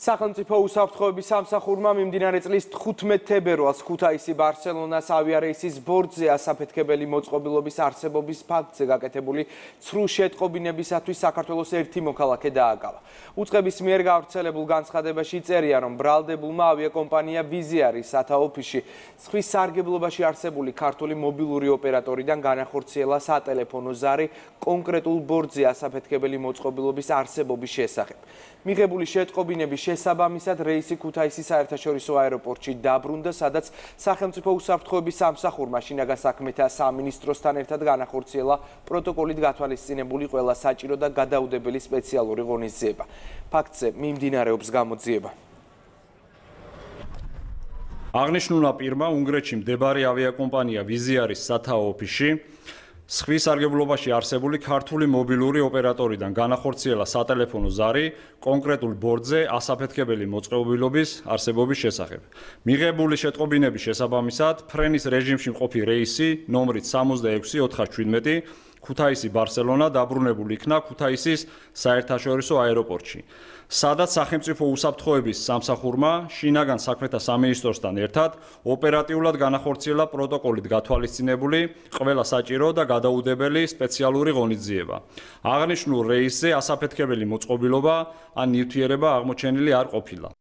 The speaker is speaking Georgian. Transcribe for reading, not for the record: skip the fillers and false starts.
სახელმწიფო უსაფრთხოების სამსახურმა მიმდინარე წლის 15 თებერვალს ქუთაისი ბარსელონას ავიარეისის ბორტზე ასაფეთქებელი მოწყობილობის არსებობის ფაქტზე გაკეთებული ცრუ შეტყობინებისათვის საქართველოს ერთი მოქალაქე დააკავა. უწყების მიერ გავრცელებულ განცხადებაში წერია, რომ ბრალდებულმა ავიაკომპანია ვიზიარის სათაო ოფისში სხვის სარგებლობაში არსებული ქართული მობილური ოპერატორიდან განახორციელა სატელეფონო ზარი კონკრეტულ ბორტზე ასაფეთქებელი მოწყობილობის არსებობის შესახებ. მიღებული შეტყობინების შესაბამისად რეისი ქუთაისის საერთაშორისო აეროპორტში დაბრუნდა, სადაც სახელმწიფო უსაფრთხოების სამსახურმა შინაგან საქმეთა სამინისტროსთან ერთად განახორციელა პროტოკოლით გათვალისწინებული ყველა საჭირო და გადაუდებელი სპეციალური ღონისძიება. ფაქტზე მიმდინარეობს გამოძიება. აღნიშნულმა პირმა უნგრეთში მდებარე ავიაკომპანია ვიზიარის სათაო ოფისში სხვის სარგებლობაში არსებული ქართული მობილური ოპერატორიდან განახორციელა სატელეფონო ზარი კონკრეტულ ბორტზე ასაფეთქებელი მოწყობილობის არსებობის შესახებ. მიღებული შეტყობინების შესაბამისად ფრენის რეჟიმში მყოფი რეისი ნომრით 66-417 ქუთაისი ბარსელონა დაბრუნებულ იქნა ქუთაისის საერთაშორისო აეროპორტში, სადაც სახელმწიფო უსაფრთხოების სამსახურმა შინაგან საქმეთა სამინისტროსთან ერთად ოპერატიულად განახორციელა პროტოკოლით გათვალისწინებული ყველა საჭირო და გადაუდებელი სპეციალური ღონისძიება. აღნიშნულ რეისზე ასაფეთქებელი მოწყობილობა ან ნივთიერება აღმოჩენილი არ ყოფილა.